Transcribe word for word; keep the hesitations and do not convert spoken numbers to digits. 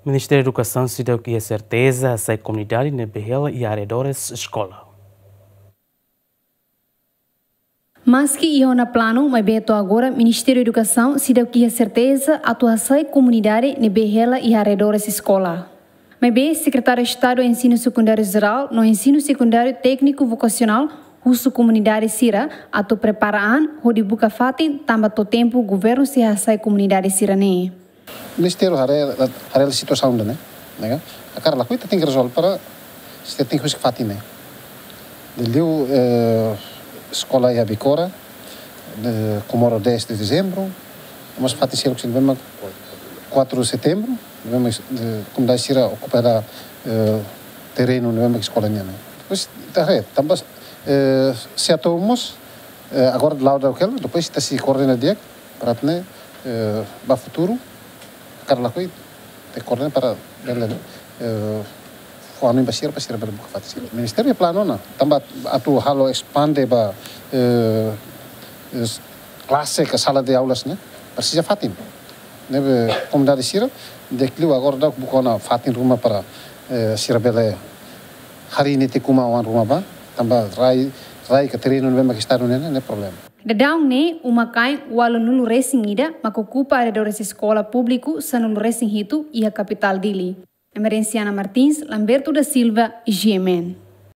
Ministériu Edukasaun seidauk iha serteza hasai komunidade ne'ebé hela iha arredores eskola. Maski iha ona planu, maibé to'o agora Ministériu Edukasaun seidauk iha serteza atu hasai komunidade ne'ebé hela iha arredores eskola. Maibé Sekretáriu Estadu Ensinu Sekundáriu Jerál no Ensinu Sekundáriu Tékniku Vokasionál husu komunidade sira atu prepara an hodi buka fatin tanba to'o tempu governu sei hasai komunidade sira-ne'e. Ministériu haree, haree situasaun ida-ne'e, ne'e ka? Hakarak lakohi ita tenke rezolve para ita tenke husik fatin ne'e. Liuliu, eh, eskola iha Becora, eh, Comoro dez de Dezembro, mas fatin seluk sira ne'ebé mak quatro de Setembro, ne'ebé mak, eh, komunidade sira okupa hela, eh, terrenu ne'ebé mak eskola nian ne'e. Depois, ita haree, tanba, eh, se atu mós, eh, agora la'o daudaun hela, depois ita sei koordena di'ak, para atu nune'e, eh, ba futuru, hakarak lakohi, ita koordena para bele, eh, fó hanoin ba sira, para sira bele buka fatin sira. Ministériu planu ona, tanba atu halo espande ba, eh, es-, klase ka sala de aulas ne'e, presiza fatin. Ne'ebé komunidade sira, di'ak liu agora daudaun buka ona fatin ruma para, eh, sira bele harii netik uma oan ruma ba, tanba rai, rai ka terrenu ne'ebé mak Estadu nian ne'e, ne'e problema. Daudaun ne'e, uma-kain ualunulu resin ida mak okupa arredores eskola públiku sanulu resin hitu iha kapitál Dili. Emerenciana Martins, Lamberto da Silva, G M N.